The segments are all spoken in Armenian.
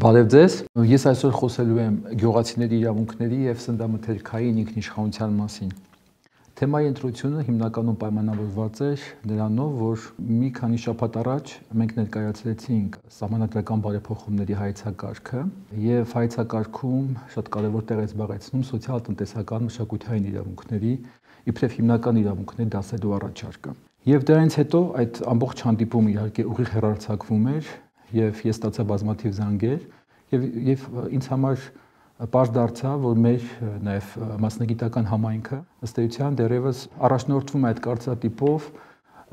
Բարև ձեզ։ Ես այսօր խոսելու եմ գյուղացիների իրավունքների եւ սննդամթերքային ինքնիշխանության մասին։ Թեմայի ընտրությունը հիմնականում պայմանավորված էր նրանով, որ մի քանի շաբաթ առաջ մենք ներկայացրեցինք սահմանադրական բարեփոխումների հայեցակարգը եւ հայեցակարգում շատ կարեւոր տեղ է զբաղեցնում սոցիալ-տնտեսական մշակութային իրավունքների իբրև հիմնական իրավունքներ դասելու առաջարկը։ Եվ դրանից հետո այդ ամբողջ հանդիպումը իհարկե ուղիղ հեռարձակվում էր եւ ես ստացա բազմաթիվ զանգեր եւ ինձ համար պարզ դարձավ, որ մեր նաեւ մասնագիտական համայնքը ըստ էության դեռևս առաջնորդվում է այդ կարծրատիպով,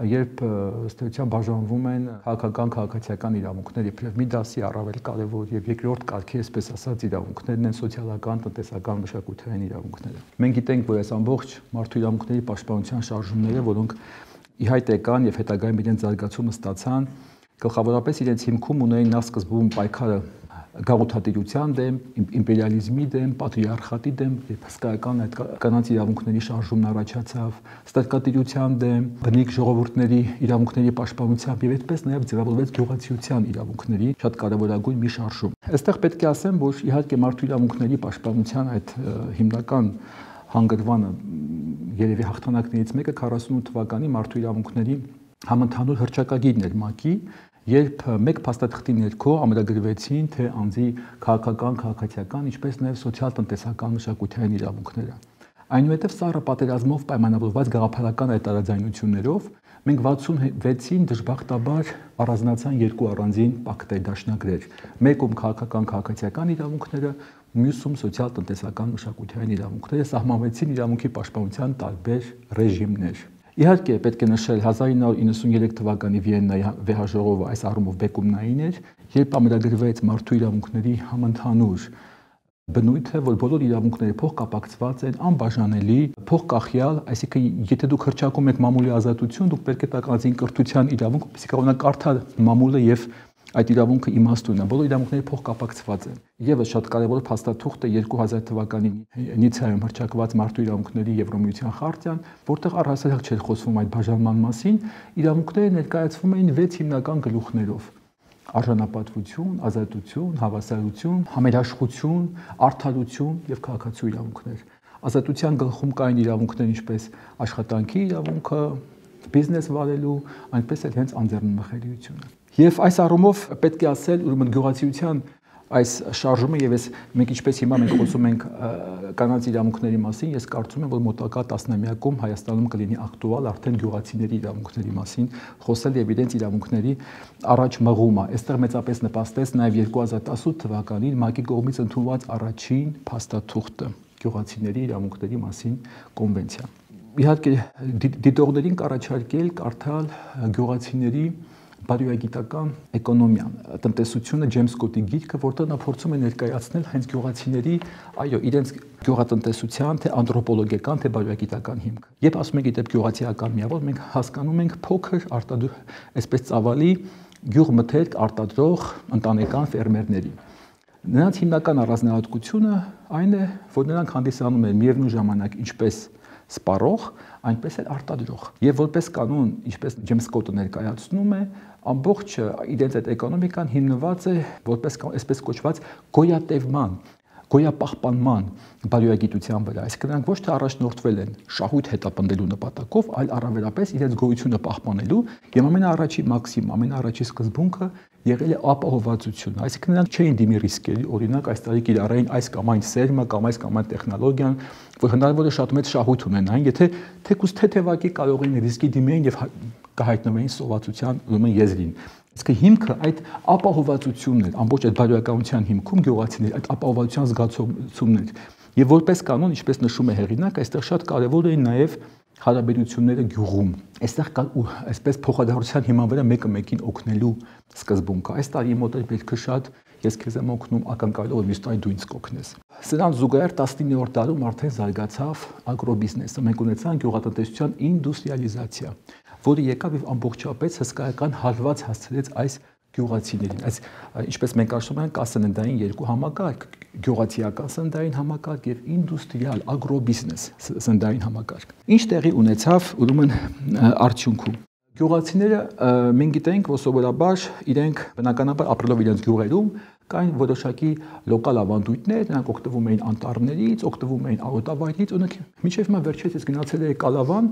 երբ ըստ էության բաժանվում են քաղաքական իրավունքներ, իբրև մի դասի առավել կարևոր եւ երկրորդ կարգի, այսպես ասած, իրավունքներն են սոցիալական, տնտեսական, մշակութային իրավունքները։ Մենք գիտենք, որ այս ամբողջ մարդու իրավունքների պաշտպանության շարժումները, որոնք ի հայտ եկան եւ հետագայում իրենց զարգացումը ստացան, գլխավորապես իրենց հիմքում ունեին նախ սկզբում պայքարը գաղութատիրության դեմ, իմպերիալիզմի դեմ, պատրիարխատի դեմ, երբ հսկայական այդ կանանց իրավունքների շարժումն առաջացավ, ստրկատիրության դեմ, բնիկ ժողովուրդների իրավունքների պաշտպանությամբ եւ այդպես նաեւ ձևավորվեց գյուղացիության իրավունքների շատ կարեւորագույն մի շարժում։ Այստեղ պետք է ասեմ, որ իհարկե մարդու իրավունքների պաշտպանության այդ հիմնական հանգրվանը երևի հաղթանակներից մեկը 48 թվականի մարդու իրավունքների համընդհանուր հռչակագիրն էր ՄԱԿ-ի, երբ մեկ փաստաթղթի ներքո ամրագրվեցին թե անձի քաղաքական, քաղաքացիական, ինչպես նաև սոցիալ-տնտեսական մշակութային իրավունքները։ Այնուհետև սառը պատերազմով պայմանավորված գաղափարական այդ տարաձայնություններով մենք 66-ին դժբախտաբար առանձնացան երկու առանձին պակտեր, դաշնագրեր, մեկում քաղաքական, քաղաքացիական իրավունքները, մյուսում սոցիալ-տնտեսական մշակութային իրավունքները, սահմանվեցին իրավունքի պաշտպանության տարբեր ռեժիմներ։ Իհարկե պետք է նշել 1993 թվականի Վիեննայի վեհաժողովը այս առումով բեկումնային էր, երբ ամրագրվեց մարդու իրավունքների համընդհանուր բնույթը, որ բոլոր իրավունքները փոխկապակցված են, անբաժանելի, փոխկախյալ, այսինքն եթե դուք հռչակում եք մամուլի ազատություն, դուք պետք է տաք անձին կրթության իրավունք, որպեսզի կարողանա կարդալ մամուլը եւ այդ իրավունքը իմաստուն է, բոլոր իրավունքները փոխկապակցված են։ Եվս շատ կարևոր փաստաթուղթ է 2000 թվականի Նիցայում հռչակված մարդու իրավունքների Եվրոմիության խարտիան, որտեղ առհասարակ չէր խոսվում այդ բաժանման մասին, իրավունքները ներկայացվում էին 6 հիմնական գլուխներով. արժանապատվություն, ազատություն, հավասարություն, համերաշխություն, արդարություն եւ քաղաքացու իրավունքներ։ Ազատության գլխում կային իրավունքներ ինչպես աշխատանքի իրավունքը, բիզնես վարելու, այնպես էլ հենց անձեռնմխելիությունը։ Եվ այս առումով պետք է ասել, ուրեմն գյուղացիության այս շարժումը եւ մենք ինչպես հիմա մենք խոսում ենք կանանց իրավունքների մասին, ես կարծում եմ, որ մոտակա տասնամյակում Հայաստանում կլինի ակտուալ արդեն գյուղացիների իրավունքների մասին խոսել եւ իրենց իրավունքների առաջ մղումը։ Այստեղ մեծապես նպաստեց նաեւ 2018 թվականին ՄԱԿ-ի կողմից ընդունված առաջին փաստաթուղթը գյուղացիների իրավունքների մասին կոնվենցիա։ Իհարկե դիտողներին կառաջարկել կարդալ գյուղացիների բարոյագիտական էկոնոմիան, տնտեսությունը Ջեյմս Սկոթի գիրքը, որտեղ նա փորձում է ներկայացնել հենց գյուղացիների, այո, իրենց գյուղատնտեսության, թե անթրոպոլոգիական, թե բարոյագիտական հիմքը։ Երբ ասում ենք իդեպ գյուղացիական միավոր, մենք հասկանում ենք փոքր այսպես ծավալի գյուղմթերք արտադրող ընտանեկան ֆերմերների։ Նրանց հիմնական առանձնահատկությունը այն է, որ նրանք հանդիսանում են միևնույն ժամանակ ինչպես սպառող, այնպես էլ արտադրող։ Եվ որպես կանոն, ինչպես Ջեյմս Սկոթը ներկայացնում է, ամբողջ իրենց այդ էկոնոմիկան հիմնված է որպես այսպես կոչված գոյատևման, գոյապահպանման բարոյագիտության վրա։ Այսինքն նրանք ոչ թե առաջնորդվել են շահույթ հետապնդելու նպատակով, այլ առավելապես իրենց գոյությունը պահպանելու եւ ամենաառաջի մաքսիմ, ամենաառաջի սկզբունքը եղել է ապահովվածությունը։ Այսինքն նրանք չէին դիմի ռիսկերի, օրինակ այս տարի կիրառեին այս կամ այն սերմը կամ այս կամ այն տեխնոլոգիան, որ հնարավոր է շատ մեծ շահույթ ունենային, եթե թեկուզ թեթևակի կարող էին ռիսկի դիմեին եւ կհայտնվեին սովածության ուրեմն եզրին։ Իսկ հիմքը այդ ապահովվածությունն էր, ամբողջ այդ բարոյականության հիմքում գյուղացիների այդ ապահովվածության զգացումն էր։ Եվ որպես կանոն, ինչպես նշում է հեղինակ, այստեղ շատ կարևոր էին նաեւ հարաբերությունները գյուղում։ Այստեղ կա այսպես փոխադարձության հիման վրա մեկը մեկին օգնելու սկզբունքը։ Այս տարի մոտ էր բերքը շատ, ես քեզ եմ օգնում, ակնկալելով որ մյուս տարի դու ինձ կօգնես։ Սրան զուգահեռ 19-րդ դարում արդեն զարգացավ ագրոբիզնեսը։ Մենք ունեցանք գյուղատնտեսության ինդուստրիալիզացիա, որը եկավ եւ ամբողջապես հսկայական հարված հասցրեց այս գյուղացիներին։ Այս ինչպես մենք ասում ենք, կա սննդային երկու համակարգ՝ գյուղացիական սննդային համակարգ եւ ինդուստրիալ ագրոբիզնես սննդային համակարգ։ Ինչ տեղի ունեցավ ուրեմն արդյունքում։ Գյուղացիները մենք գիտենք, որ սովորաբար իրենք բնականաբար ապրելով իրենց գյուղերում կային որոշակի լոկալ ավանդույթներ, նրանք օգտվում էին անտառներից, օգտվում էին արոտավայրից, օրինակ մինչև հիմա վերջերս գնացել էի Կալավան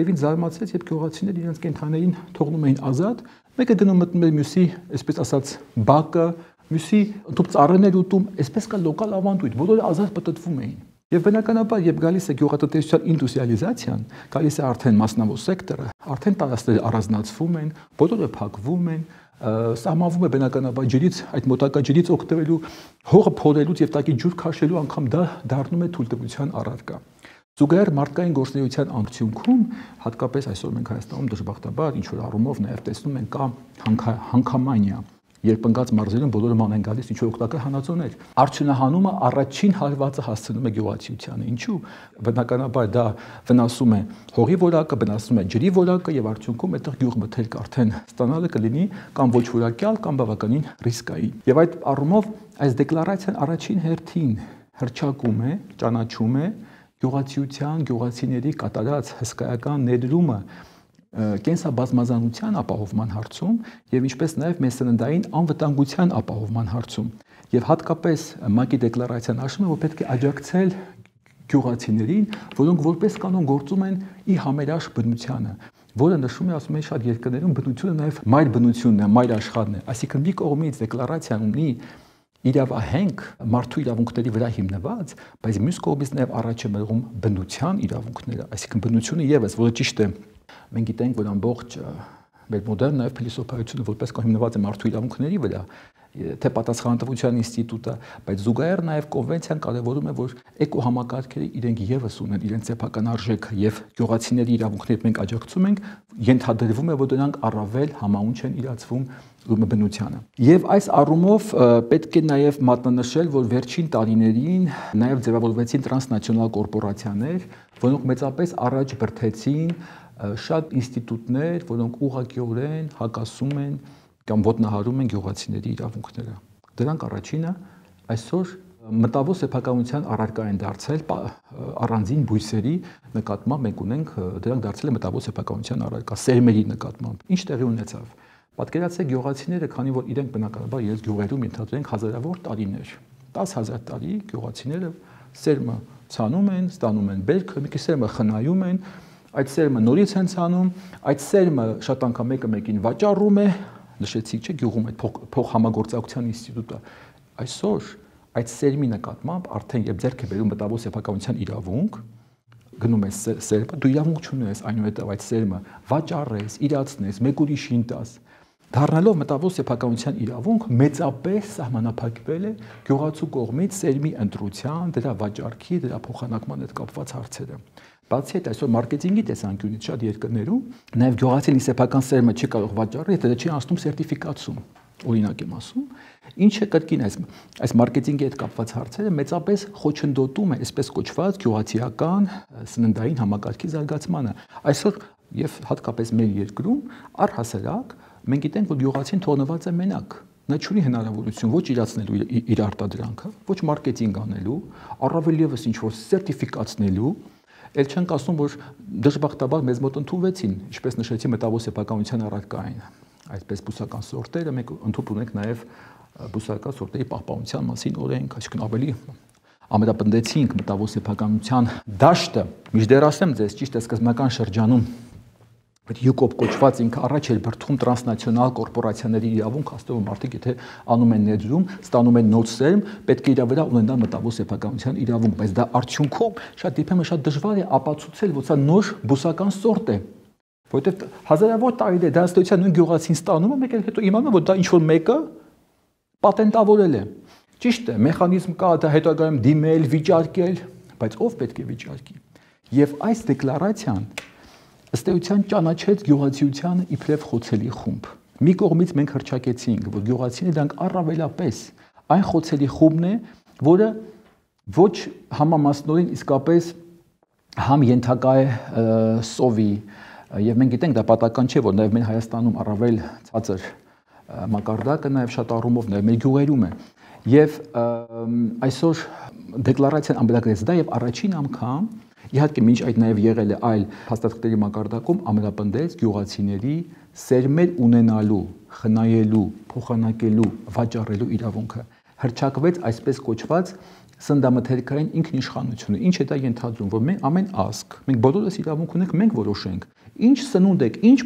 եւ ինձ զարմացրեց, երբ գյուղացիները իրենց կենդաններին թողնում էին ազատ, մեկը գնում մտնում էր մյուսի, այսպես ասած, բակը, մյուսի ընդհանուր ծառերներ ուտում, այսպես կա լոկալ ավանդույթ, բոլորը ազատ պտտվում էին։ Եվ բնականաբար, երբ գալիս է գյուղատնտեսության ինդուստրիալիզացիան, գալիս է արդեն մասնավոր սեկտորը, արդեն տարածքները առանձնացվում են, բոլորը փակվում են, սահմանվում է բնականաբար ջրից, այդ մոտակա ջրից օգտվելու, հողը փորելուց եւ տակի ջուր քաշելու անգամ դա դառնում է թույլտվության առարկա։ Զուգահեռ մարդկային գործունեության արդյունքում, հատկապես այսօր մենք Հայաստանում դժբախտաբար ինչ որ առումով նաեւ տեսնում ենք կա հանքամանիա, երբ ընկած մարզերում բոլորը ման են գալիս ինչ որ օգտակար հանածոներ։ Արդյունահանումը առաջին հարվածը հասցնում է գյուղացիությանը։ Ինչու՞։ Բնականաբար դա վնասում է հողի որակը, վնասում է ջրի որակը եւ արդյունքում այդտեղ գյուղմթերք արդեն ստանալը կլինի կամ ոչ որակյալ կամ բավականին ռիսկային։ Եվ այդ առումով այս դեկլարացիան առաջին հերթին հրճակում է, ճանաչում է գյուղացիության, գյուղացիների կատարած հսկայական ներդրումը կենսաբազմազանության ապահովման հարցում եւ ինչպես նաեւ մեր սննդային անվտանգության ապահովման հարցում եւ հատկապես ՄԱԿ-ի դեկլարացիան ասում է որ պետք է աջակցել գյուղացիներին, որոնք որպես կանոն գործում են ի համերաշխ բնությանը, որը նշում է ասում է շատ երկրներում բնությունը նաեւ մայր բնությունն է, մայր աշխարհն է, այսինքն մի կողմից դեկլարացիան ունի իրավահենք մարդու իրավունքների վրա հիմնված, բայց մյուս կողմից նաեւ առաջ է մղում բնության իրավունքները, այսինքն բնությունը եւս, որը ճիշտ է մենք գիտենք, որ ամբողջ մեր մոդեռն նաև փիլիսոփայությունը որպես հիմնված է մարդու իրավունքների վրա, թե պատասխանատվության ինստիտուտը, բայց զուգահեռ նաև կոնվենցիան կարևորում է, որ էկոհամակարգերը իրենք եւս ունեն իրենց սեփական արժեքը եւ գյուղացիների իրավունքները մենք աջակցում ենք, ենթադրվում է, որ դրանք առավել համաունչ են իրացվում բնությանը։ Եվ այս առումով պետք է նաև մատնանշել, որ վերջին տարիներին նաև ձևավորվեցին տրանսնացիոնալ կորպորացիաներ, որոնք մեծապես առաջ բրդեցին շատ ինստիտուտներ, որոնք ուղղակիորեն հակասում են կամ ոտնահարում են գյուղացիների իրավունքները։ Դրանք առաջինը այսօր մտավոր սեփականության առարկա են դարձել առանձին բույսերի նկատմամբ մենք ունենք դրանք դարձել է մտավոր սեփականության առարկա սերմերի նկատմամբ։ Ինչ տեղի ունեցավ։ Պատկերացրեք գյուղացիները, քանի որ իրենք բնականաբար իրենց գյուղերում ենթադրենք հազարավոր տարիներ, 10,000 տարի գյուղացիները սերմը ցանում են, ստանում են բերքը, մի քիչ սերմը խնայում են, այդ սերմը նորից են ցանում, այդ սերմը շատ անգամ մեկը մեկին վաճառում է, նշեցիք չէ գյուղում այդ փոխհամագործակցության ինստիտուտը։ Այսօր այդ սերմի նկատմամբ արդեն երբ ձեռք է բերում մտավոր սեփականության իրավունք, գնում ես սերմը, դու իրավունք չունես այնուհետև այդ սերմը վաճառես, իրացնես, մեկ ուրիշին տաս։ Դառնալով մտավոր սեփականության իրավունք մեծապես սահմանափակվել է գյուղացու կողմից սերմի ընտրության, դրա վաճառքի, դրա փոխանակման հետ կապված հարցերը։ Բացի այդ, այսօր մարքեթինգի տեսանկյունից շատ երկրներում նաև գյուղացին սեփական սերմը չի կարող վաճառել, եթե չի անցնում սերտիֆիկացում, օրինակ եմ ասում, ինչը կրկին այս մարքեթինգի հետ կապված հարցերը մեծապես խոչընդոտում է այսպես կոչված գյուղացիական սննդային համակարգի զարգացմանը։ Այսօր եւ հատկապես մեր երկրում առհասարակ մենք գիտենք, որ գյուղացին թողնված է մենակ։ Նա չունի հնարավորություն ոչ իրացնելու իր արտադրանքը, ոչ մարքեթինգ անելու, առավել եւս ինչ որ սերտիֆիկացնելու, ել չենք ասում, որ դժբախտաբար մեզ մոտ ընդունվեցին, ինչպես նշեցի մտավոր սեփականության առարկային, այսպես բուսական սորտերը, մենք ընդունենք ունենք նաեւ բուսական սորտերի պահպանության մասին օրենք, այսինքն ավելի ամենապնդեցինք մտավոր սեփականության դաշտը, միջդեռ ասեմ ձեզ, ճիշտ է սկզբնական շրջանում յուկոպ կոչված ինքը առաջ էր բրդում տրանսնացիոնալ կորպորացիաների իրավունք, հաստատում մարդիկ եթե անում են ներդրում, ստանում են նոր սերմ, պետք է իր վրա ունենան մտավոր սեփականության իրավունք, բայց դա արդյունքում շատ դեպքերում շատ դժվար է ապացուցել, որ սա նոր բուսական սորտ է, որովհետև հազարավոր տարիներ դա ըստեյության նույն գյուղացին ստանում է, մեկ էլ հետո իմանում որ դա ինչ որ մեկը պատենտավորել է։ Ճիշտ է, մեխանիզմ կա, դա հետագայում դիմել, վիճարկել, բայց ով պետք է վիճարկի։ Եվ այս դեկլարացիան ըստ էության ճանաչեց գյուղացիությանը իբրև խոցելի խումբ։ Մի կողմից մենք հռչակեցինք, որ գյուղացիները դրանք առավելապես այն խոցելի խումբն է, որը ոչ համամասնորեն իսկապես համ ենթակա է սովի, եւ մենք գիտենք դա պատական չէ, որ նաեւ մեր Հայաստանում առավել ցածր մակարդակը նաեւ շատ առումով նաեւ մեր գյուղերում է։ Եվ այսօր դեկլարացիան ամբողջացրեց դա եւ առաջին անգամ իհարկե մինչ այդ նաև եղել է այլ փաստաթղթերի մակարդակում ամենապնդեց գյուղացիների սերմեր ունենալու, խնայելու, փոխանակելու, վաճառելու իրավունքը։ հռչակվեց այսպես կոչված սննդամթերքային ինքնիշխանությունը։ Ինչ է դա ենթադրում, որ մենք ամեն ազգ, մենք բոլորս իրավունք ունենք, մենք որոշենք, ինչ սնունդ եք, ինչ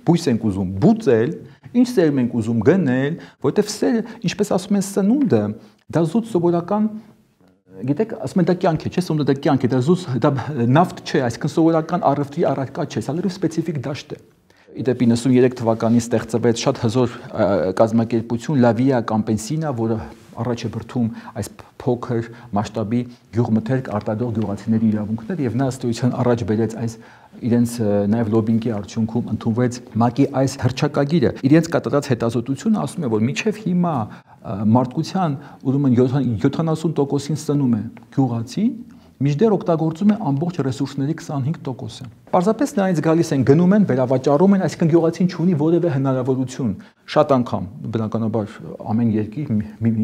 բույս ենք ուզում բուծել, ինչ սեր ենք ուզում գնել, որտեվ սերը, ինչպես ասում են, սնունդը, դա զուտ սովորական, գիտեք, ասում են դա կյանք է, չէ՞, սնունդը դա կյանք է, դա զուտ, դա նավթ չէ, այսինքն սովորական առևտրի առարկա չէ, սա լրիվ սպეციფიկ դաշտ է։ Իդեպ 93 թվականին ստեղծվեց շատ հզոր կազմակերպություն La Via Campesina, որը առաջ է բրդում այս փոքր մասշտաբի գյուղմթերք արտադրող գյուղացիների իրավունքներ եւ նա ըստ էության առաջ բերեց այս իրենց նաեւ լոբինգի արդյունքում ընդունվեց ՄԱԿ-ի այս հռչակագիրը։ Իրենց կատարած հետազոտությունը ասում է, որ մինչեւ հիմա մարդկության ուրեմն 70%-ին սնում է գյուղացին, մինչդեռ օգտագործում է ամբողջ ռեսուրսների 25%-ը։ Պարզապես նրանից գալիս են գնում են, վերավաճառում են, այսինքն գյուղացին չունի որևէ հնարավորություն։ Շատ անգամ, բնականաբար ամեն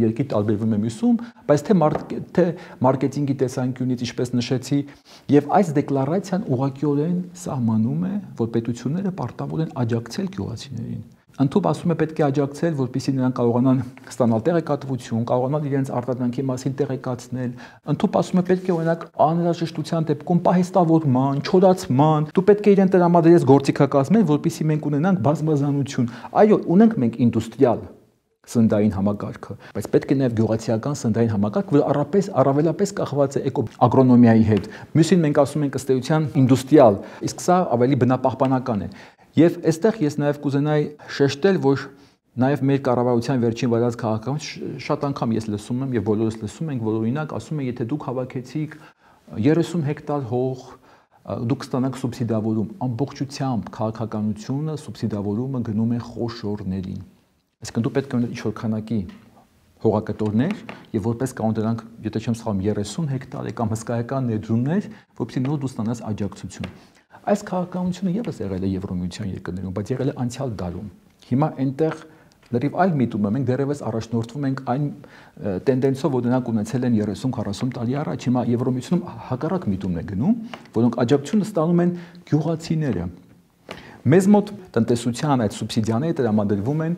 երկիր տարբերվում է մյուսում, բայց թե մարքեթինգի տեսանկյունից, ինչպես նշեցի, եւ այս դեկլարացիան ուղղակիորեն սահմանում է, որ պետությունները պարտավոր են աջակցել գյուղացիներին։ Ընդհանուր ասում է պետք է աջակցել, որպեսզի նրանք կարողանան ստանալ տեղեկատվություն, կարողանան իրենց արտադրանքի մասին տեղեկացնել։ Ընդհանուր ասում է պետք է օրինակ անհրաժեշտության դեպքում պահեստավորման, չորացման, դու պետք է իրեն տրամադրես գործիքակազմել, որպեսզի մենք ունենանք բազմազանություն։ Այո, ունենք մենք ինդուստրիալ սննդային համակարգը, բայց պետք է նաև գյուղացիական սննդային համակարգ, որը առավելապես կախված է ագրոնոմիայի հետ։ Մյուսին մենք ասում ենք ըստ էության ինդուստրիալ, իսկ սա ավելի բնապահպանական է։ Եվ այստեղ ես նաև կուզենայի շեշտել, որ նաև մեր կառավարության վերջին վարած քաղաքականություն շատ անգամ ես լսում եմ եւ բոլորս լսում ենք, որ օրինակ ասում են, եթե դուք հավաքեցիք 30 հեկտար հող, դուք կստանաք սուբսիդավորում, ամբողջությամբ քաղաքականությունը սուբսիդավորումը գնում է խոշորներին։ Այսինքն դու պետք է ունենաս ինչ-որ քանակի հողակտորներ եւ որպես կանոն դրանք, եթե չեմ սխալվում, 30 հեկտար կամ հսկայական ներդրումներ, որովհետեւ նոր դու ստանաս աջակցություն։ Այս քաղաքականությունը եւս եղել է Եվրոմիության երկրներում, բայց եղել է անցյալ դարում։ Հիմա այնտեղ լրիվ այլ միտում է, մենք դեռևս առաջնորդվում ենք այն տենդենսով, որ նրանք ունեցել են 30-40 տարի առաջ, հիմա Եվրոմիությունում հակառակ միտումն է գնում, որոնք աջակցությունը ստանում են գյուղացիները։ Մեզ մոտ տնտեսության այդ սուբսիդիաները տրամադրվում են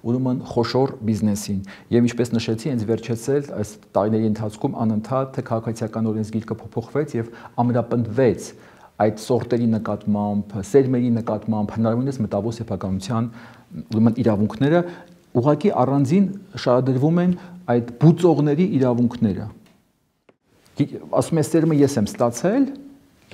ուրեմն խոշոր բիզնեսին եւ ինչպես նշեցի, հենց վերջացել այս տարիների ընթացքում անընդհատ թե քաղաքացիական օրենսգիրքը փոփոխվեց եւ ամրապնդվեց այդ սորտերի նկատմամբ, սերմերի նկատմամբ հնարավորինս մտավոր սեփականության ուրեմն իրավունքները ուղղակի առանձին շարադրվում են այդ բուծողների իրավունքները։ Ասում է սերմը ես եմ ստացել,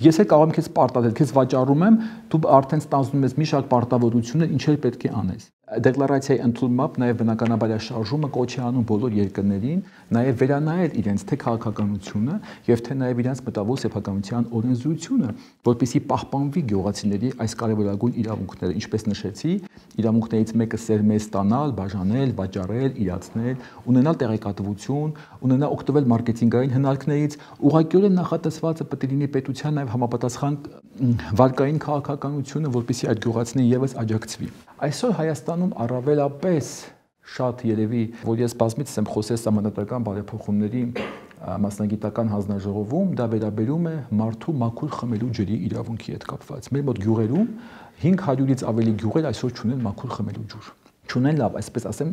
ես էլ կարող եմ քեզ պարտադրել, քեզ վաճառում եմ, դու արդեն ստանձնում ես մի շարք պարտավորություններ, ինչ էլ պետք է անես։ Դեկլարացիայի ընդունմամբ նաև բնականաբար շարժումը կոչ է անում բոլոր երկրներին նաև վերանայել իրենց թե քաղաքականությունը եւ թե նաև իրենց մտավոր սեփականության օրենսդրությունը, որպեսզի պահպանվի գյուղացիների այս կարևորագույն իրավունքները, ինչպես նշեցի, իրավունքներից մեկը սերմեր ստանալ, բաժանել, վաճառել, իրացնել, ունենալ տեղեկատվություն, ունենալ օգտվել մարքեթինգային հնարքներից, ուղղակիորեն նախատեսվածը պետք է լինի պետության նաև համապատասխան վարկային քաղաքականությունը, որպեսզի այդ գյուղացիներին եւս աջակցվի։ Այսօր Հայաստանում առավելապես շատ երևի, որ ես բազմիցս եմ խոսել սահմանադրական բարեփոխումների մասնագիտական հանձնաժողովում, դա վերաբերում է մարդու մաքուր խմելու ջրի իրավունքի հետ կապված։ Մեր մոտ գյուղերում 500-ից ավելի գյուղեր այսօր չունեն մաքուր խմելու ջուր։ Չունեն լավ, այսպես ասեմ,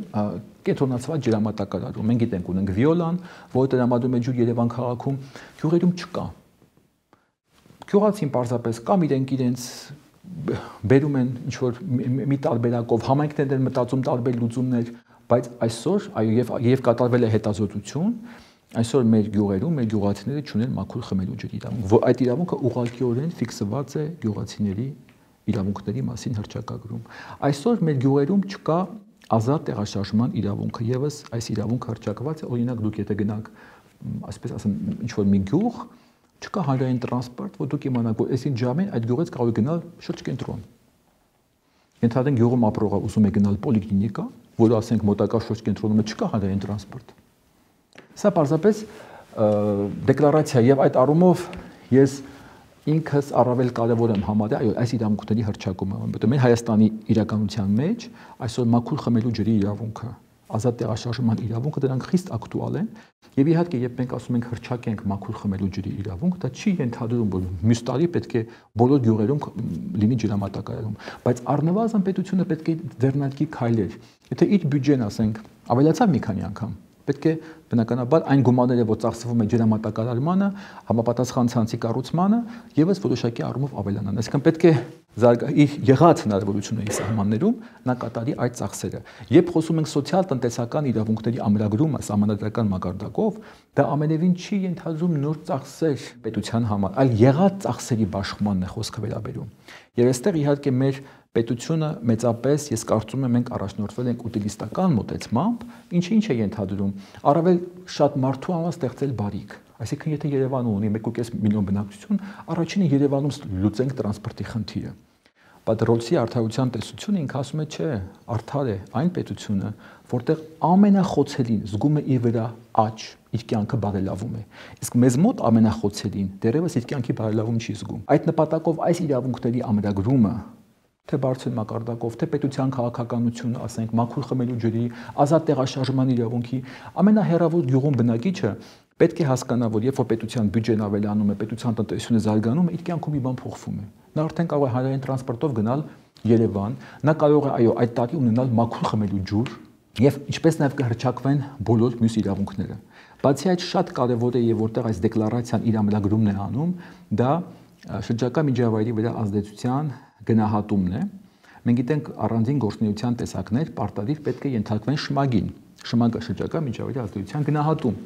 կենտրոնացված ջրամատակարարում։ Մենք գիտենք ունենք Վիոլան, որը տրամադրում է ջուր Երևան քաղաքում, գյուղերում չկա։ Գյուղացին պարզապես կամ իրենց բերում են ինչ-որ մի տարբերակով, համայնքներն են մտածում տարբեր լուծումներ, բայց այսօր, այո, եւ կատարվել է հետազոտություն, այսօր մեր գյուղերում, մեր գյուղացիները չունեն մաքուր խմելու ջրի իրավունք, որ այդ իրավունքը ուղղակիորեն ֆիքսված է գյուղացիների իրավունքների մասին հռչակագրում։ Այսօր մեր գյուղերում չկա ազատ տեղաշարժման իրավունքը, եւս այս իրավունքը հռչակված է, օրինակ դուք եթե գնաք, այսպես ասեմ, ինչ-որ մի գյուղ, չկա հանրային տրանսպորտ, որ դուք իմանաք, որ այսին ժամին այդ գյուղից կարող է գնալ շրջկենտրոն։ Ենթադրենք գյուղում ապրողը ուզում է գնալ պոլիկլինիկա, որը ասենք մոտակա շրջկենտրոնում չկա հանրային տրանսպորտ։ Սա պարզապես դեկլարացիա եւ այդ առումով ես ինքս առավել կարևոր եմ համարել այո այս իրավունքների հռչակումը, որովհետեւ մեր Հայաստանի իրականության մեջ այսօր մաքուր խմելու ջրի իրավունքը, ազատ տեղաշարժման իրավունքը դրանք խիստ ակտուալ են եւ իհարկե երբ մենք ասում ենք հռչակենք մաքուր խմելու ջրի իրավունք, դա չի ենթադրում որ մյուս տարի պետք է բոլոր գյուղերում լինի ջրամատակարարում, բայց առնվազն պետությունը պետք է ձեռնարկի քայլեր։ Եթե իր բյուջեն ասենք ավելացավ մի քանի անգամ, Պետք է բնականաբար այն գումարները, որ ծախսվում է ջրամատակարարմանը, համապատասխան ցանցի կառուցմանը եւս որոշակի առումով ավելանան։ Այսինքն պետք է իր եղած հնարավորությունների սահմաններում նա կատարի այդ ծախսերը։ Երբ խոսում ենք սոցիալ-տնտեսական իրավունքների ամրագրումը սահմանադրական մակարդակով, դա ամենևին չի ենթադրում նոր ծախսեր պետության համար, այլ եղած ծախսերի բաշխմանն է խոսքը վերաբերում։ Եվ այստեղ իհարկե մեր պետությունը մեծապես, ես կարծում եմ, մենք առաջնորդվել ենք ուտիլիստական մոտեցմամբ, ինչը ինչ է ենթադրում, առավել շատ մարդու համար ստեղծել բարիք։ Այսինքն, եթե Երևանը ունի 1.5 միլիոն բնակչություն, առաջինը Երևանում լուծենք տրանսպորտի խնդիրը։ Բայց Ռոլսի արդարության տեսությունը ինքը ասում է, չէ, արդար է այն պետությունը, որտեղ ամենախոցելին զգում է իր վրա աճ, իր կյանքը բարելավում է։ Իսկ մեզ մոտ ամենախոցելին դեռևս իր կյանքի բարելավում չի զգում։ Այդ նպատակով այս իրավունքների ամրագրումը թե բարձր մակարդակով, թե պետության քաղաքականությունը, ասենք, մաքուր խմելու ջրի, ազատ տեղաշարժման իրավունքի, ամենահեռավոր գյուղում բնակիչը պետք է հասկանա, որ երբ որ պետության բյուջեն ավելանում է, պետության տնտեսությունը զարգանում է, իր կյանքում մի բան փոխվում է։ Նա արդեն կարող է հանրային տրանսպորտով գնալ Երևան, նա կարող է, այո, այդ տարի ունենալ մաքուր խմելու ջուր եւ ինչպես նաեւ կհրճակվեն բոլոր մյուս իրավունքները։ Բացի այդ, շատ կարեւոր է եւ որտեղ այս դեկլարացիան իր ամրագրումն է անում, դա շրջակա միջավայրի վրա ազդեցության գնահատումն է։ Մենք գիտենք առանձին գործունեության տեսակներ պարտադիր պետք է ենթարկվեն շմագին, շմագը շրջակա միջավայրի ազդեցության գնահատում,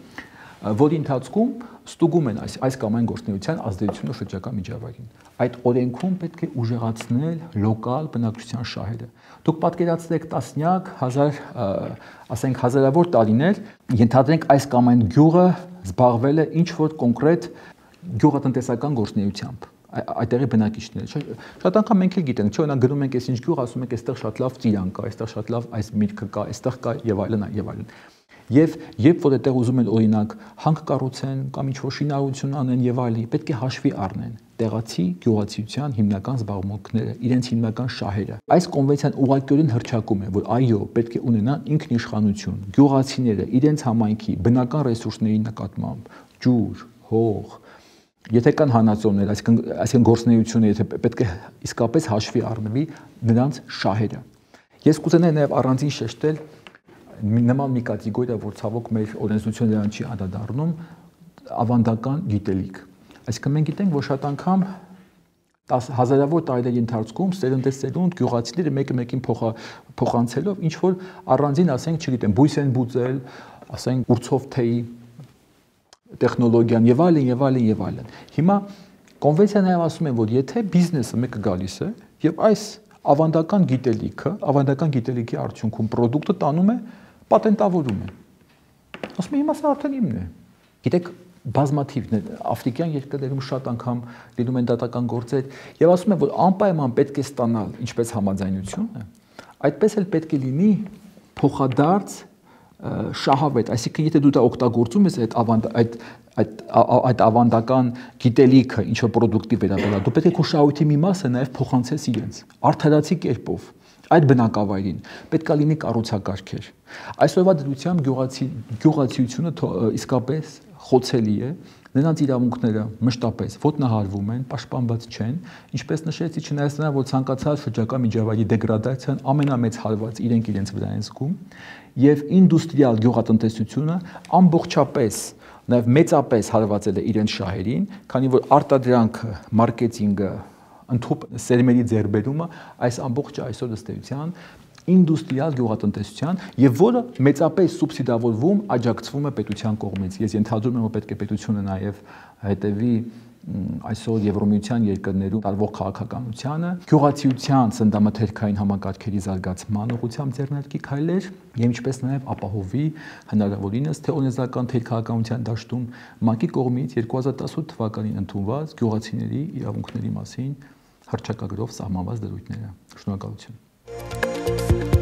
որի ընթացքում ստուգում են այս կամ այն գործունեության ազդեցությունը շրջակա միջավայրին։ Այդ օրենքում պետք է ուժեղացնել լոկալ բնակչության շահերը։ Դուք պատկերացրեք տասնյակ, ասենք հազարավոր տարիներ, ենթադրենք այս կամ այն գյուղը զբաղվել է ինչ-որ կոնկրետ գյուղատնտեսական գործունեությամբ։ Այդտեղի բնակիչները, շատ անգամ մենք էլ գիտենք, չէ՞, օրինակ գնում ենք այս ինչ գյուղ, ասում ենք, այստեղ շատ լավ ծիրան կա, այստեղ շատ լավ այս միրգը կա, այստեղ կա եւ այլն, եւ այլն։ Եվ երբ որ այդտեղ ուզում են օրինակ հանք կառուցեն կամ ինչ-որ շինարարություն անեն եւ այլն, պետք է հաշվի առնեն տեղացի գյուղացիության հիմնական զբաղմունքները, իրենց հիմնական շահերը։ Այս կոնվենցիան ուղղակիորեն հռչակում է, որ այո, պետք է ունենան ինքնիշխանություն, գյուղացիները իրենց համայնքի բնական ռեսուրսների նկատմամբ, ջուր, հող, եթե կան հանածոներ, այսինքն գործունեությունը, եթե պետք է իսկապես հաշվի առնվի նրանց շահերը։ Ես կուզենայի նաև առանձին շեշտել նման մի կատեգորիա, որ ցավոք մեր օրենսդրությունը դրան չի անդրադառնում, ավանդական գիտելիք։ Այսինքն մենք գիտենք, որ շատ անգամ հազարավոր տարիների ընթացքում սերնդեսերունդ գյուղացիները մեկը մեկին փոխանցելով ինչ որ առանձին, ասենք, չգիտեմ, բույս են բուծել, ասենք, ուրցով թեյ տեխնոլոգիան եւ այլն եւ այլն եւ այլն։ Հիմա կոնվենցիան նաև ասում է, որ եթե բիզնեսը մեկը գալիս է եւ այս ավանդական գիտելիքի արդյունքում պրոդուկտը տանում է, պատենտավորում է։ Ասում է, հիմա սա արդեն իմն է։ Գիտեք, բազմաթիվ աֆրիկյան երկրներում շատ անգամ լինում են դատական գործեր եւ ասում են, որ անպայման պետք է ստանալ ինչպես համաձայնությունը, այդպես էլ պետք է լինի փոխադարձ շահավետ, այսինքն եթե դու դա օգտագործում ես այդ ավանդական գիտելիքը ինչ որ պրոդուկտի վերաբերյալ, դու պետք է քո շահույթի մի մասը նաև փոխանցես իրենց արդարացի կերպով այդ բնակավայրին պետք է լինի կառուցակարգեր։ Այսօրվա դրությամբ գյուղացիությունը իսկապես խոցելի է, նրանց իրավունքները մշտապես ոտնահարվում են, պաշտպանված չեն, ինչպես նշեցի, չնայած նրան, որ ցանկացած շրջակա միջավայրի դեգրադացիան ամենամեծ հարվածը իրենց վրա են զգում, եւ ինդուստրիալ գյուղատնտեսությունը ամբողջապես, նաեւ մեծապես հարվածել է իրենց շահերին, քանի որ արտադրանքը, մարքեթինգը, ընդհանուր սերմերի ձեռբերումը այս ամբողջը այսօր ըստ էության ինդուստրիալ գյուղատնտեսության եւ որը մեծապես սուբսիդավորվում, աջակցվում է պետության կողմից։ Ես ենթադրում եմ, որ պետք է պետությունը նաեւ հետեւի այսօր Եվրոմիության երկրներում տարվող քաղաքականությանը, գյուղացիության սննդամթերքային համակարգերի զարգացման ուղղությամբ ձեռնարկի քայլեր եւ ինչպես նաեւ ապահովի հնարավորինս թե օրենսդրական թե քաղաքականության դաշտում ՄԱԿ-ի կողմից 2018 թվականին ընդունված գյուղացիների իրավունքների մասին հռչակագրով սահմանված դրույթները։ Շնորհակալություն։